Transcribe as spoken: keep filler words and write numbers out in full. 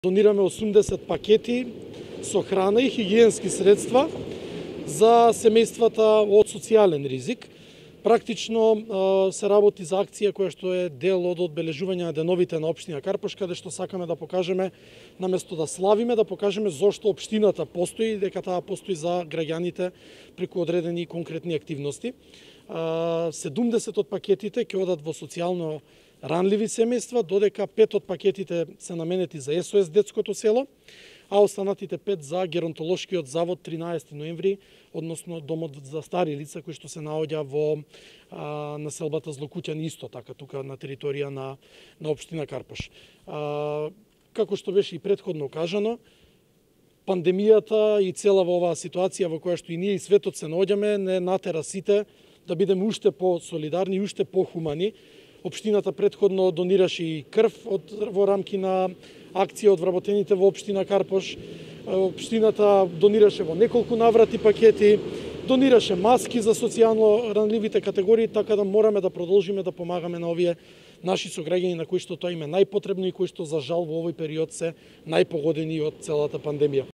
Донираме осумдесет пакети со храна и хигиенски средства за семејствата од социјален ризик. Практично се работи за акција која што е дел од одбележување на деновите на општина Карпош, каде што сакаме да покажеме, наместо да славиме, да покажеме зошто општината постои и дека таа постои за граѓаните преку одредени конкретни активности. седумдесет од пакетите ќе одат во социјално ранливи семејства, додека пет од пакетите се наменети за Ес О Ес детското село, а останатите пет за Геронтолошкиот завод тринаесети ноември, односно домот за стари лица кои што се наоѓа во а, населбата Злокуќани, исто така тука на територија на на општина Карпош. А, како што беше и претходно кажано, пандемијата и цела во оваа ситуација во која што и ние и светот се наоѓаме не натера сите да бидеме уште по-солидарни и уште по-хумани. Општината претходно донираше и крв од, во рамки на акција од вработените во општина Карпош. Општината донираше во неколку наврати пакети, донираше маски за социјално ранливите категории, така да мораме да продолжиме да помагаме на овие наши сограѓани на кои што тоа им е најпотребно и кои што за жал во овој период се најпогодени од целата пандемија.